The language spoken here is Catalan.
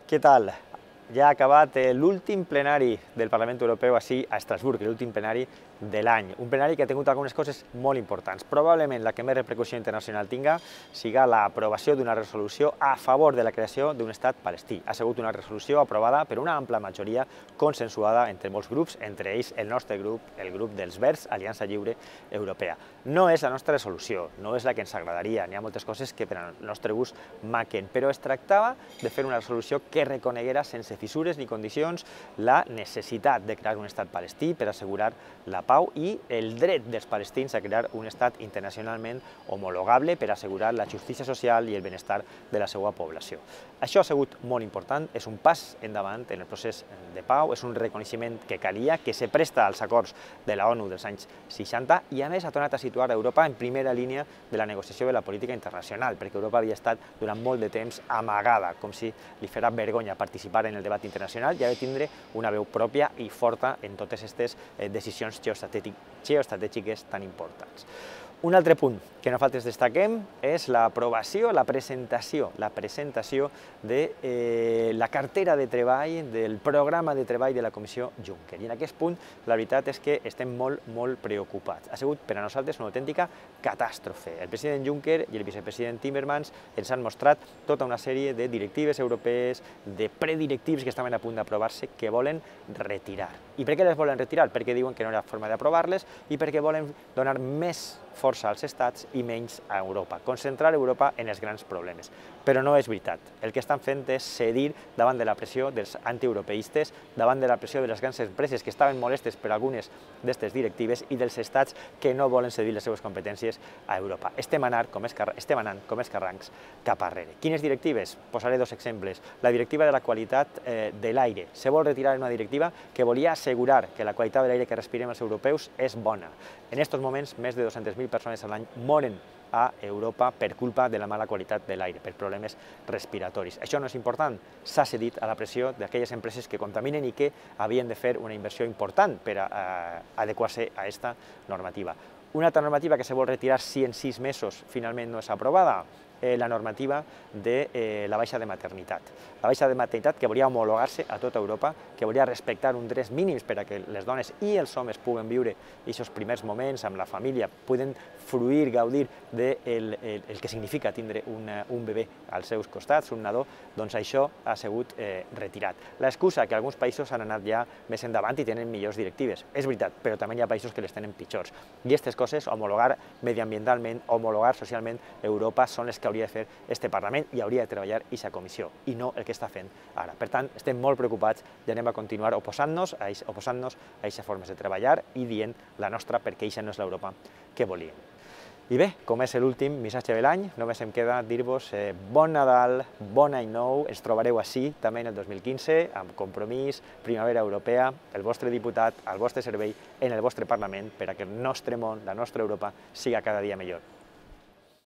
Què tal? Ja ha acabat l'últim plenari del Parlament Europeu així a Estrasburg, l'últim plenari de l'any. Un plenari que ha tingut algunes coses molt importants. Probablement la que més repercussió internacional tinga siga l'aprovació d'una resolució a favor de la creació d'un estat palestí. Ha sigut una resolució aprovada per una ampla majoria consensuada entre molts grups, entre ells el nostre grup, el grup dels Verds, Aliança Lliure Europea. No és la nostra resolució, no és la que ens agradaria, n'hi ha moltes coses que per al nostre gust maquen, però es tractava de fer una resolució que reconeguera sense fissures ni condicions la necessitat de crear un estat palestí per assegurar la pau i el dret dels palestins a crear un estat internacionalment homologable per assegurar la justícia social i el benestar de la seva població. Això ha sigut molt important, és un pas endavant en el procés de pau, és un reconeixement que calia, que se presta als acords de la ONU dels anys 60 i a més ha tornat a situar Europa en primera línia de la negociació de la política internacional, perquè Europa havia estat durant molt de temps amagada, com si li fera vergonya participar en el debat internacional i ha de tindre una veu pròpia i forta en totes aquestes decisions geoestratègiques tan importants. Un altre punt que nosaltres destaquem és l'aprovació, la presentació de la cartera de treball, del programa de treball de la Comissió Juncker. I en aquest punt la veritat és que estem molt preocupats. Ha sigut per a nosaltres una autèntica catàstrofe. El president Juncker i el vicepresident Timmermans ens han mostrat tota una sèrie de directives europees, de predirectius que estaven a punt d'aprovar-se que volen retirar. I per què les volen retirar? Perquè diuen que no hi ha forma d'aprovar-les i perquè volen donar més força als estats i menys a Europa, concentrar Europa en els grans problemes. Però no és veritat. El que estan fent és cedir davant de la pressió dels antieuropeistes, davant de la pressió de les grans empreses que estaven molestes per algunes d'aquestes directives i dels estats que no volen cedir les seves competències a Europa. Estem anant com els carrancs cap arrere. Quines directives? Posaré dos exemples. La directiva de la qualitat de l'aire. Se vol retirar una directiva que volia assegurar que la qualitat de l'aire que respirem els europeus és bona. En aquests moments, més de 200.000 persones a l'any moren a Europa per culpa de la mala qualitat de l'aire, per problemes respiratoris. Això no és important, s'ha cedit a la pressió d'aquelles empreses que contaminen i que havien de fer una inversió important per adequar-se a aquesta normativa. Una altra normativa que se vol retirar si en 6 mesos finalment no és aprovada, la normativa de la baixa de maternitat. La baixa de maternitat que volia homologar-se a tota Europa, que volia respectar uns drets mínims per a que les dones i els homes puguen viure aquests primers moments amb la família, puguen fruir, gaudir del que significa tindre un bebè als seus costats, un nadó, doncs això ha sigut retirat. L'excusa que alguns països han anat ja més endavant i tenen millors directives. És veritat, però també hi ha països que les tenen pitjors. I aquestes coses, homologar mediambientalment, homologar socialment Europa, són les que hauria de fer este Parlament i hauria de treballar aquesta comissió, i no el que està fent ara. Per tant, estem molt preocupats i anem a continuar oposant-nos a aquestes formes de treballar i dient la nostra perquè aquesta no és l'Europa que volíem. I bé, com és l'últim missatge de l'any, només em queda dir-vos bon Nadal, bon any nou, ens trobareu així també en el 2015, amb Compromís, Primavera Europea, el vostre diputat al vostre servei en el vostre Parlament per a que el nostre món, la nostra Europa, siga cada dia millor.